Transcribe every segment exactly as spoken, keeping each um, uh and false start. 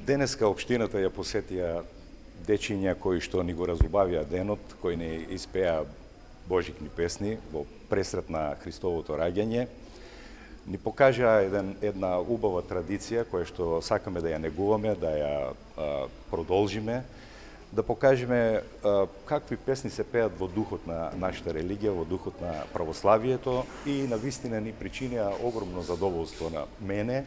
Денеска општината ја посетија дечиња кои што ни го разубавија денот, кои не испеа божикни песни во пресрет на Христовото раѓање. Ни покажа еден, една убава традиција која што сакаме да ја негуваме, да ја а, продолжиме, да покажеме а, какви песни се пеат во духот на нашата религија, во духот на православието и на вистина ни причинија огромно задоволство на мене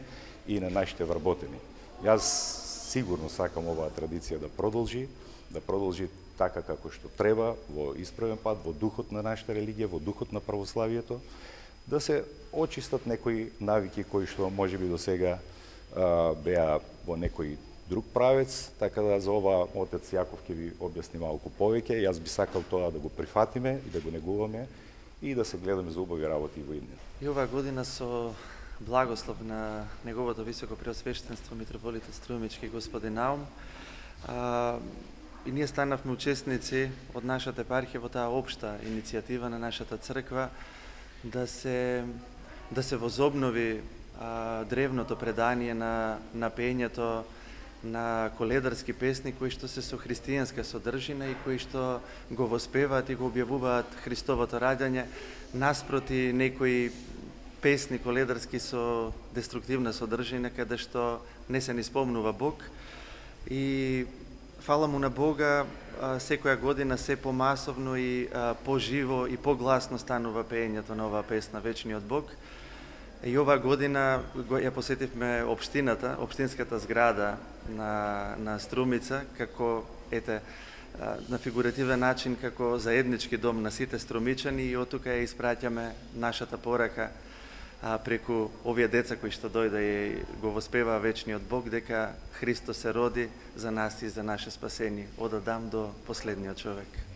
и на нашите вработени. Јас сигурно сакам оваа традиција да продолжи, да продолжи така како што треба, во исправен пат, во духот на нашата религија, во духот на православието, да се очистат некои навики кои што можеби до сега а, беа во некој друг правец, така да за ова отец Јаков ќе ви објасни малку повеќе. Јас би сакал тоа да го прифатиме и да го негуваме и да се гледаме за убави работи во иднина. И оваа година со благослов на неговото високо преосвештенство митрополит Струмички господин Наум, а, и ние станавме учесници од нашата епархија во таа општа иницијатива на нашата црква да се да се возобнови а, древното предание на на пењето на коледарски песни кои што се со христијанска содржина и кои што го воспеваат и го објавуваат Христовото раѓање наспроти некои песни коледарски со деструктивна содржина каде што не се ни спомнува Бог. И фала му на Бога, секоја година се помасовно и поживо и погласно станува пеењето на оваа песна Вечниот Бог. И оваа година ја посетивме општината, општинската зграда на, на Струмица, како, ете, на фигуративен начин, како заеднички дом на сите струмичани и од тука ја испраќаме нашата порака а, преку овие деца кои што дојде и го воспеваа Вечниот Бог, дека Христос се роди за нас и за наше спасение, од Адам до последниот човек.